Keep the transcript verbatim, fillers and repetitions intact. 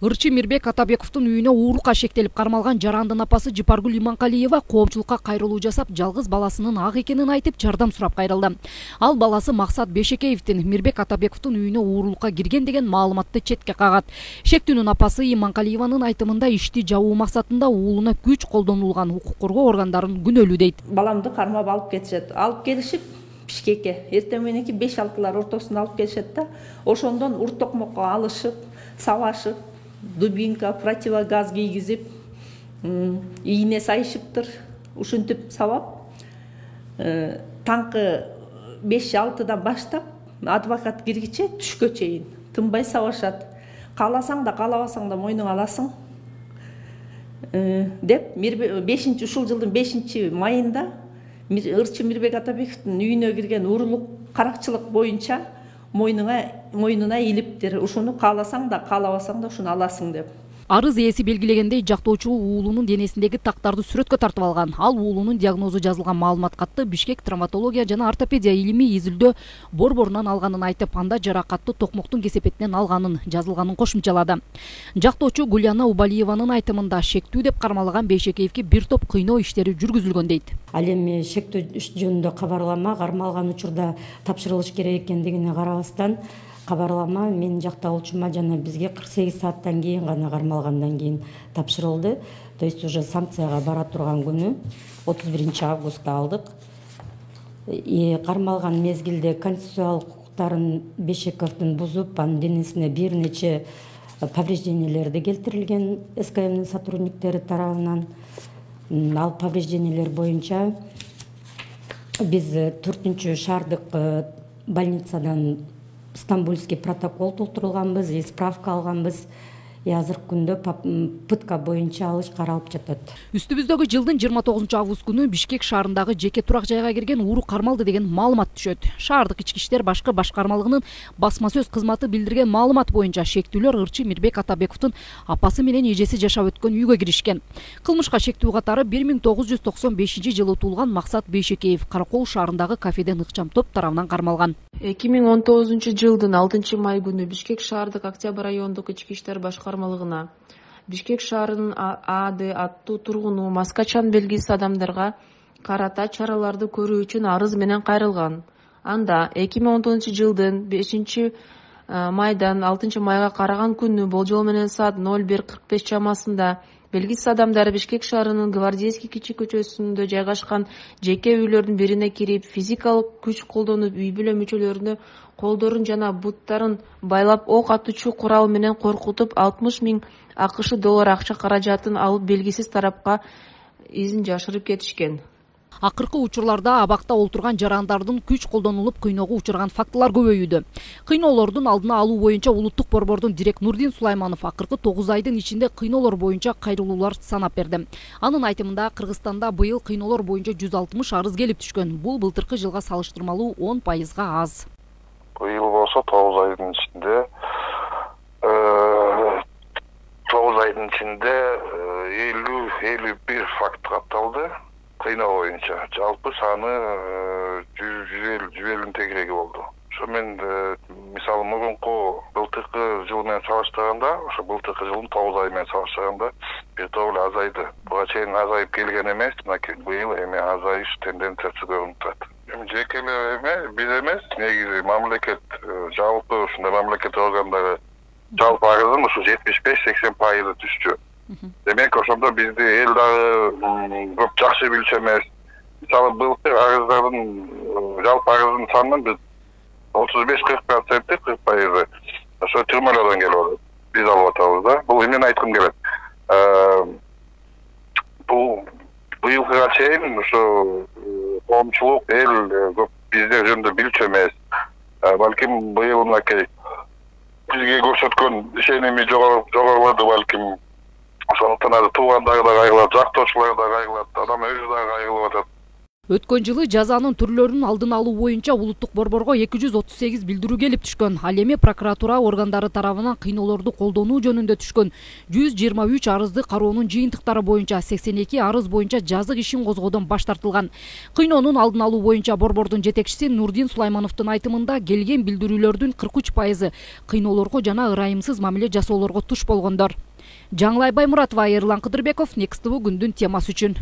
Ырчы Мирбек Атабековдун үйүнө уурукка шектелип кармалган жарандын апасы Жыпаргүл Иманкалиева коомчулукка кайрылуу жасап, жалгыз баласынын ак экенин айтып, жардам сурап кайрылды. Ал баласы Максат Бешекеевдин Мирбек Атабековдун үйүнө уурулукка кирген деген маалыматты четке кагат. Шектүүнүн апасы Иманкалиеванын айтымында ишти жабуу максатында уулуна күч колдонулган, укук коргоо органдарын күнөөлүү дейт. Баламды кармап алып кетишет. Алып келишип Бишкекке эртең мененки беш алтылар ортосунда алып келишет да, ошондон ур токмокко алышып, сабашып, дубинка, противогаз кийгизип, ийне сайышыптыр, ушинтип сабап, таңкы беш алтыдан баштап адвокат киргиче түшкө чейин тынбай сабашат. Кааласаң да, каалабасаң да мойнуңа аласың деп, бешинчи ушул жылдын бешинчи майында Ырчы Мирбек Атабековдун үйүнө кирген уурулук каракчылык боюнча мойнуна мойнуна илиптир. Ушуну кааласаң да, каалабасаң да ушуну аласың деп. Арыз ээси белгилегендей, жактоочу уулунун денесиндеги тактарды сүрөткө тартып алган. Ал уулунун диагнозу жазылган маалымат катты Бишкек травматология жана ортопедия илими изилдөө борборунан алганын айтып, анда жаракатты токмоктун кесепетинен алганын жазылганын кошумчалады. Жактоочу Гуляна Убалиеванын айтымында шектүү деп кармалган Бейшекеевге бир топ кыйноо иштери жүргүзүлгөн дейт. Ал эми шектүү иш жөнүндө кабарлама кармалган учурда тапшырылыш керек экендигине карабастан кабарлама менин жакталуучума жана бизге кырк сегиз сааттан кийин гана кармалгандан кийин тапшырылды. То есть уже санкцияга бара турган күнү отуз биринчи августта алдык. Кармалган мезгилде конституциялык укуктарын Бешековдун бузуп, анын денесине бир нече повреждениялерди келтирилген эс ка эмдин сотрудниктери тарабынан. Ал повреждениялер боюнча биз төртүнчү шаардык больницадан Стамбульский протокол толтурулганбыз, справка алганбыз. Азыркы күндө пытка боюнча алыш каралып жатат. Үстүбүздөгү жылдын жыйырма тогузунчу август күнү Бишкек шаарындагы жеке турак жайга кирген ууру кармалды деген маалымат түшөт. Шаардык ички иштер башкы башкармалыгынын басма сөз кызматы билдирген маалымат боюнча шектүүлөр Ырчы Мирбек Атабековдун апасы менен эжеси жашап өткөн үйгө киришкен. Кылмышка шектүү катары бир миң тогуз жүз токсон бешинчи жылы туулган Максат Бейшекеев Каракол шаарындагы кафеден ыкчам топ тарабынан кармалган. эки миң он тогузунчу жылдын алтынчы май күнү Бишкек шаардык Октябрь райондук ички иштер башкармалыгына Бишкек шаарынын А Д аттуу тургуну маскачан белгисиз адамдарга карата чараларды көрүү үчүн арыз менен кайрылган. Анда эки миң он тогузунчу жылдын бешинчи майдан алтынчы майга караган күнү болжол менен саат ноль бир кырк беш чамасында белгисиз адамдар Бишкек шаарынын Гвардейский кичи көчөсүндө жайгашкан жеке үйлөрдүн бирине кирип, физикалык күч колдонуп, үй бүлө мүчөлөрүнө колдорун жана буттарын байлап, ок атуучу курал менен коркутуп, алтымыш миң АКШ доллар акча каражатын алып, белгисиз тарапка изин жашырып кетишкен. Акыркы учурларда абакта олтурган жарандардын күч колдонулуп кыйноого учурган фактылар көбөйүүдө. Кыйноолордун алдына алуу боюнча улуттук борбордун дирек Нурдин Сулайманов акыркы тогуз айдын ичинде кыйноолор боюнча кайрылуулар санап берди. Анын айтымында Кыргызстанда быйыл кыйноолор боюнча жүз алтымыш арыз келип түшкөн. Бул былтыркы жылга салыштырмалуу он пайызга аз. Быйыл болсо тогуз айдын ичинде тогуз айдын ичинде элүү элүү бир факт катталды. Кыйноо боюнча жалпы саны жүз элүүнүн тегереги болду. Ошо менен мисалы мурунку былтыркы жыл менен салыштырганда, ошо былтыркы жылдын тогуз ай менен салыштырганда бир топ эле азайды. Буга чейин азайып келген эмес, быйыл эми азайыш тенденциясы көрүнүп турат. Эми жекелер эме, биз эмес, негизи мамлекет жалпы ушундай мамлекет органдары жалпы арыздын ушу жетимиш беш сексен пайызы түшчү. Демек ошондо бизди эл дагы көп жакшы билчү эмес. Мисалы былтыр арыздардын жалпы арыздын санынан биз отуз беш кырк проценти кырк пайызы ошо түрмөлөрдөн келип атат. Биз алып атабыз да. Бул эмнени айткым келет? Бул быйылгыга чейин ошо коомчулук эл көп биздер жөнүндө билчү эмес. Балким быйыл мынакей бизге көрсөткөн ишеними жогорулады балким. Ошондуктан азыр туугандар да кайгылат, жактоочулар да кайгылат, адам өзү да кайгылып атат. Өткөн жылы жазанын түрлөрүнүн алдын алуу боюнча улуттук борборго эки жүз отуз сегиз билдирүү келип түшкөн. Ал эми прокуратура органдары тарабынан кыйноолорду колдонуу жөнүндө түшкөн жүз жыйырма үч арызды кароонун жыйынтыктары боюнча сексен эки арыз боюнча жазык ишин козгоодон баш тартылган. Кыйноонун алдын алуу боюнча борбордун жетекчиси Нурдин Сулаймановдун айтымында келген билдирүүлөрдүн кырк үч пайызы кыйноолорго жана ырайымсыз мамиле жасоолорго туш болгондор. Жаңылай Баймуратова, Эрлан Кыдырбеков, Next тэ вэ күндүн темасы үчүн.